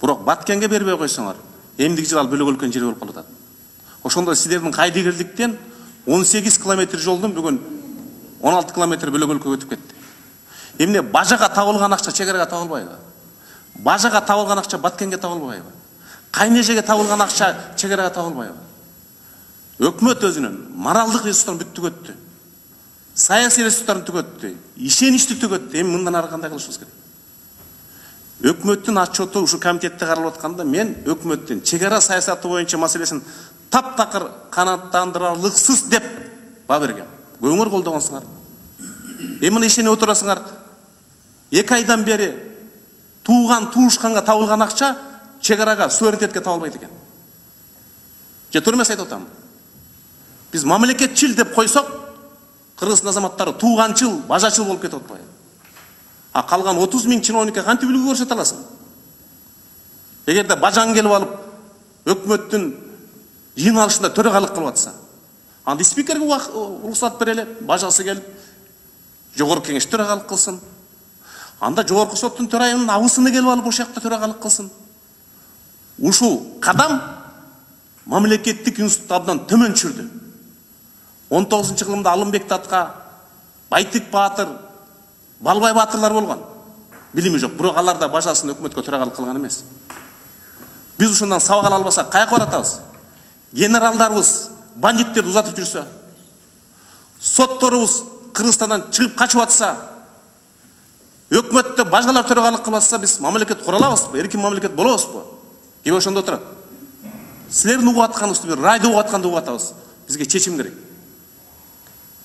Бирок Баткенге бербей койсоңор, эмдиги жылы ал бөлөгөлкөн жери болуп калат. Ошондо силердин кайдыгерликтен 18 километр жолдун бүгүн 16 километр бөлөгөлкөгө өтүп кетти. Эмне бажага табылган акча чегарага табылбайбы? Бажага табылган акча Баткенге табылбайбы? Кайнежеге табылган акча чегарага табылбайбы? Өкмөт өзүнүн моралдык ресурстарын бүт түгөттү. Саясий ресурстарын түгөттү. Ишеничти түгөттү. Эми мындан ары кандай кылышыбыз керек? Өкмөттүн отчету ушу комитетте каралып атканда мен өкмөттүн чегара саясаты боюнча маселесин таптакыр канааттандырарлыксыз деп баа бергем. Көңүр колдогонсуңар. Эми мына ишенип отурасыңар. 2 айдан бери туушканга табылган акча чегарага суверенитетке табылбайт экен. Же туура эмес айтып атам. Биз мамлекетчил деп койсок, Кыргыздын азаматтары тууганчыл, бажачыл болуп кетип атпайбы? А калган 30 000 чиновникке кантип үлгү көрсөтө аласың? Эгерде бажаң келип алып, өкмөттүн жыйналышында төрагалык кылып атса, анда спикерге уруксат берели, бажасы келип, жогорку кеңеш төрагалык кылсын. Анда жогорку соттун төрайымынын абысыны келип алып, ошол жакта төрагалык кылсын. Ушул кадам мамлекеттик институтты абдан төмөн түшүрдү. 19-жылымда Алымбек Татка, Байтик Баатыр, Балбай Баатырлар болгон. Билими жок, бирок алар да бажасын өкмөткө төрагалык кылган эмес. Биз ушундан сабак ала албасак каяка баратабыз? Генералдарыбыз бандиттерди узатып жүрсө, сотторубуз Кыргызстандан чыгып качып атса, өкмөттө бажалар төрагалык кылып атса, биз мамлекет кура алабызбы? Эркин мамлекет болобузбу? Ким ошондо отурат? Силердин угуп атканыңызды бир райды угуп атканды угуп атабыз. Бизге чечим керек.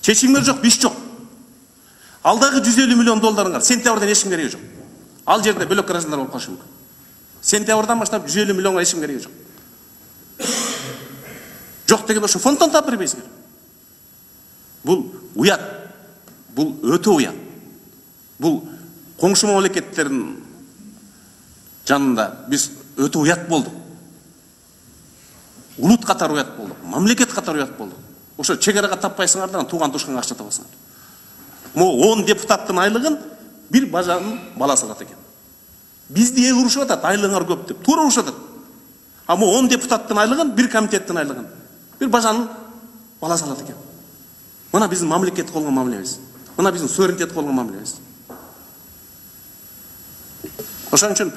Чечимдер жок, биш жок. Алдагы 150 миллион долларыңар сентябрдан эч ким кереги жок. Ал жерде бөлөк граждандар болуп калышы мүмкүн. Сентябрдан баштап 150 миллионго эч ким кереги жок. Жок деген ошо фонддон таап бербейсиңер. Бул уят. Бул өтө уят. Бул коңшу мамлекеттердин жанында биз өтө уят болдук. Улут катары уят болдук. Мамлекет катары уят болдук. Ошо чегарага таппайсыңардан тууган тушканга акча табасыңар. Могу 10 депутаттын айлыгын бир бажанын баласы алат экен. Бизди эл урушуп атат, айлыгыңар көп деп. Туура урушуп атат. А могу 10 депутаттын айлыгын, бир комитеттин айлыгын бир бажанын баласы алат экен. Мына биздин мамлекет колгон мамилебиз. Мына биздин суверенитет колгон мамилебиз. Ошон үчүн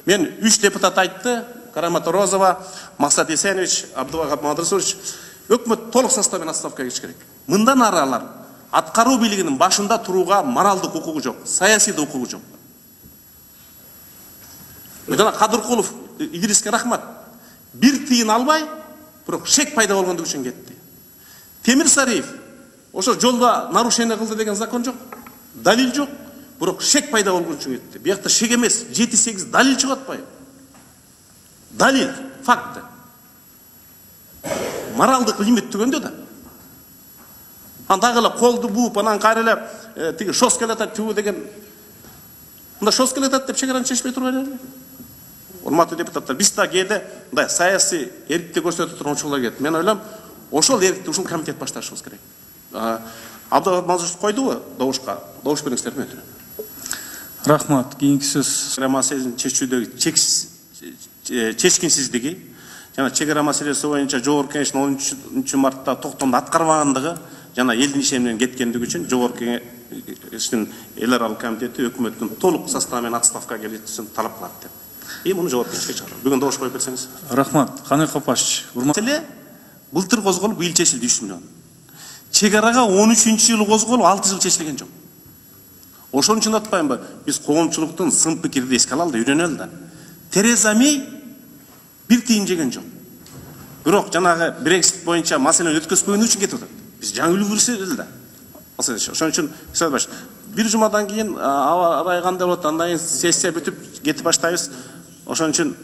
мен 3 депутат айтты: Карамата Розова, Максат Есенович, Абдувахап Мадрасович. Өкмөт толук составмен отставкага кетиш керек. Мындан ары алар аткаруу бийлигинин башында турууга моралдык укугу жок, саясий да укугу жок. Жана Кадыркулов Идриске рахмат. Бир тыйын албай, бирок шек пайда болгондугу үчүн кетти. Темир Сариев ошо жолдо нарушение кылды деген закон жок, далил жок, бирок шек пайда болгон үчүн кетти. Биякта шек эмес, 7-8 далил чыгып атпайбы? Далил, факты. Моралдык лимит түгөндө да. Андагы эле колду бууп, анан кайра эле тиги шос келатат түбү деген. Мында шос келатат деп чегараны чечпей турган эле. Урматтуу депутаттар, биз да кээде мындай саясий эркиндик көрсөтө турган учурлар келет. Мен ойлойм, ошол эркиндикти ушул комитет башташыбыз керек. Абдулла Мазуров койдубу добушка? Добуш бериңиздер өтүнөм. Рахмат. Кийинки сөз маселесин чечүүдөгү чечкинсиздиги жана чегара маселеси боюнча жогорку кеңештин 13 мартта токтомду аткарбагандыгы жана элдин иши менен кеткендиги үчүн жогорку кеңештин эл аралык комитети өкмөттүн толук составы менен отставкага кетүүсүн талап кылат деп. Муну жогорку кеңешке чыгарам. Бүгүн добуш коюп берсеңиз. Рахмат. Канай Капашевич. Маселе былтыр козголуп, быйыл чечилди 3 миллион. Чегарага 13-жылы козголуп 6 жыл чечилген жок. Ошон үчүн атпаймынбы? Биз коомчулуктун сын пикирди эске алалы да, үйрөнөлү да. Тереза Мей бир тыйын жеген жок. Бирок жанагы Брексит боюнча маселени өткөзбөгөн үчүн кетип атат. Биз жаңы үлгүрсөз да. Ошон үчүн бир жумадан кийин аба кандай болот, андан кийин сессия бүтүп кетип баштайбыз. Ошон үчүн